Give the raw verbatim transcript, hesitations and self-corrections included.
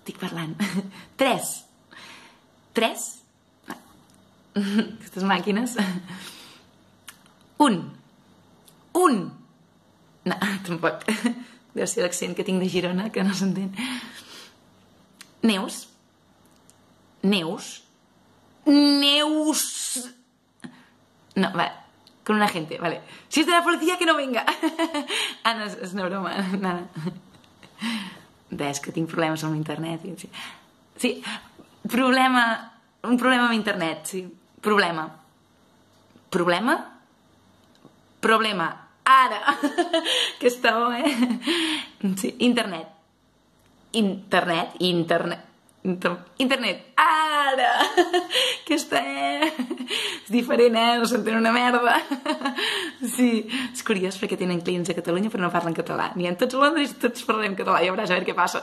estic parlant. Tres. Tres? Aquestes màquines. Un. Un. No, tampoc. Deu ser l'accent que tinc de Girona, que no s'entén. Neus. Neus. Neus. No, vale. Con una gente, vale. Si es de la policía, que no venga. Ah, no, és una broma. Nada. Ves que tinc problemes amb internet. Sí, problema... Un problema amb internet, sí. Problema. Problema? Problema. Ara! Que està bo, eh? Sí, internet. Internet. Internet. Internet. Ara! Que està, eh? És diferent, eh? No s'entén una merda. Sí. És curiós perquè tenen clients a Catalunya però no parlen català. N'hi ha tots a Londres i tots parlem català. Ja veuràs a veure què passa.